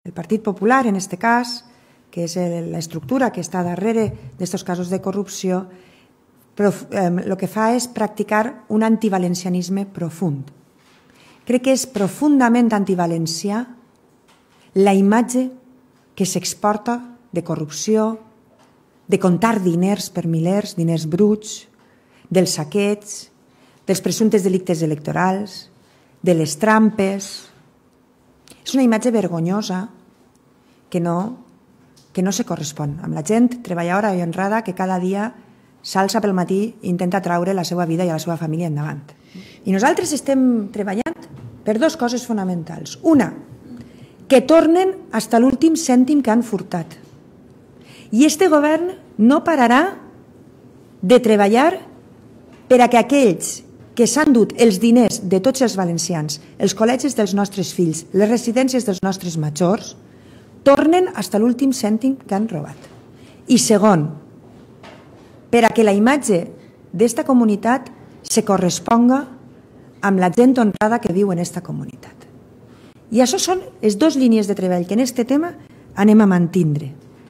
El Partit Popular, en aquest cas, que és l'estructura que està darrere d'aquests casos de corrupció, el que fa és practicar un antivalencianisme profund. Crec que és profundament antivalencià la imatge que s'exporta de corrupció, de comptar diners per milers, diners bruts, dels saqueig, dels presumptes delictes electorals, de les trampes. És una imatge vergonyosa que no se correspon amb la gent treballadora i honrada que cada dia s'alça pel matí i intenta traure la seva vida i la seva família endavant. I nosaltres estem treballant per dues coses fonamentals. Una, que tornen fins a l'últim cèntim que han furtat. I este govern no pararà de treballar per a que aquells que s'han dut els diners de tots els valencians, els col·legis dels nostres fills, les residències dels nostres majors, tornen fins a l'últim cèntim que han robat. I segon, per a que la imatge d'esta comunitat se corresponga amb la gent honrada que viu en aquesta comunitat. I això són les dues línies de treball que en aquest tema anem a mantindre.